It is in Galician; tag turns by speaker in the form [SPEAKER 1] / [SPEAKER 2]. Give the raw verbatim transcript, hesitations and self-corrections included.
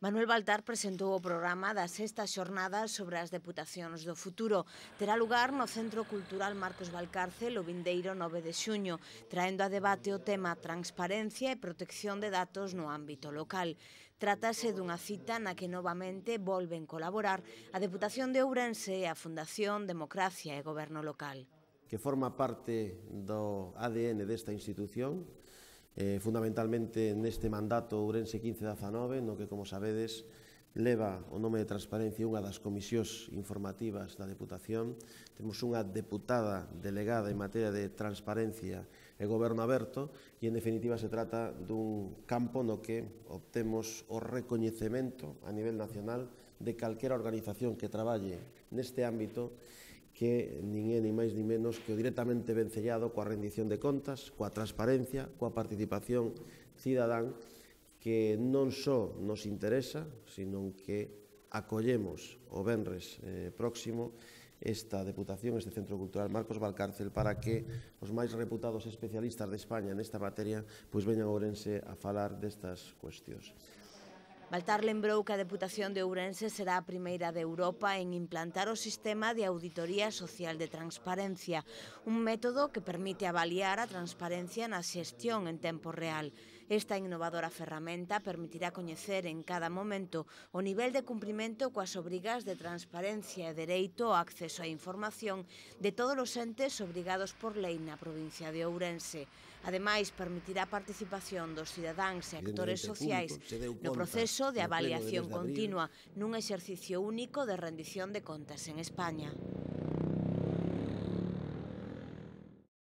[SPEAKER 1] Manuel Baltar presentou o programa da sexta xornada sobre as deputacións do futuro. Terá lugar no Centro Cultural Marcos Valcárcel o vindeiro nove de xuño, traendo a debate o tema transparencia e protección de datos no ámbito local. Trátase dunha cita na que novamente volven colaborar a Deputación de Ourense e a Fundación Democracia e Goberno Local.
[SPEAKER 2] Que forma parte do A D N desta institución, eh, fundamentalmente neste mandato Ourense quince dezanove, no que, como sabedes, leva o nome de transparencia unha das comisións informativas da Deputación. Temos unha deputada delegada en materia de transparencia e goberno aberto e, en definitiva, se trata dun campo no que obtemos o recoñecemento a nivel nacional de calquera organización que traballe neste ámbito, que nin é ni máis ni menos que o directamente vencellado coa rendición de contas, coa transparencia, coa participación cidadán, que non só nos interesa, sino que acollemos o venres eh, próximo esta Deputación, este Centro Cultural Marcos Valcárcel, para que os máis reputados especialistas de España nesta materia pois veñan a Ourense a falar destas cuestións.
[SPEAKER 1] Baltar lembrou que a Deputación de Ourense será a primeira de Europa en implantar o sistema de auditoría social de transparencia, un método que permite avaliar a transparencia na xestión en tempo real. Esta innovadora ferramenta permitirá coñecer en cada momento o nivel de cumprimento coas obrigas de transparencia e dereito ao acceso á información de todos os entes obrigados por lei na provincia de Ourense. Ademais, permitirá a participación dos cidadáns e actores sociais no proceso de avaliación continua nun exercicio único de rendición de contas en España.